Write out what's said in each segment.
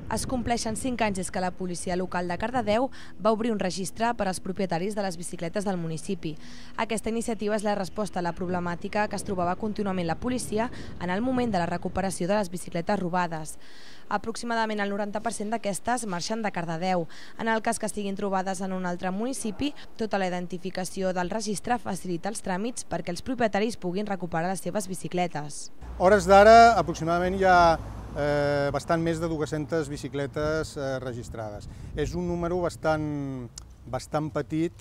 Es compleixen 5 anys des que la policia local de Cardedeu va obrir un registre per als propietaris de les bicicletes del municipi. Aquesta iniciativa és la resposta a la problemàtica que es trobava contínuament la policia en el moment de la recuperació de les bicicletes robades. Aproximadament el 90% d'aquestes marxen de Cardedeu. En el cas que estiguin trobades en un altre municipi, tota la identificació del registre facilita els tràmits perquè els propietaris puguin recuperar les seves bicicletes. A hores d'ara, aproximadament hi ha bastant més de 200 bicicletes registrades. És un número bastant petit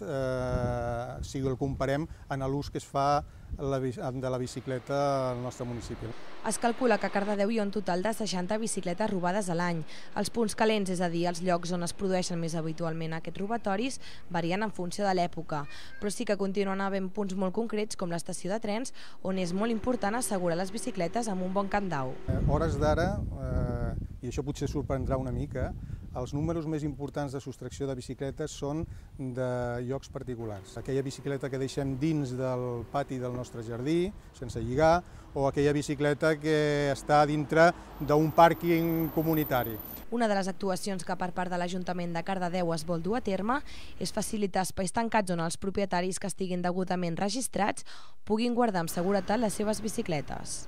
si el comparem en l'ús que es fa de la bicicleta al nostre municipi. Es calcula que a Cardedeu hi ha un total de 60 bicicletes robades a l'any. Els punts calents, és a dir, els llocs on es produeixen més habitualment aquests robatoris, varien en funció de l'època, però sí que continuen havent punts molt concrets com l'estació de trens, on és molt important assegurar les bicicletes amb un bon candau. A hores d'ara, i això potser sorprendrà una mica, els números més importants de sostracció de bicicletes són de llocs particulars. Aquella bicicleta que deixem dins del pati del nostre jardí, sense lligar, o aquella bicicleta que està dintre d'un pàrquing comunitari. Una de les actuacions que per part de l'Ajuntament de Cardedeu es vol dur a terme és facilitar espais tancats on els propietaris que estiguin degudament registrats puguin guardar amb seguretat les seves bicicletes.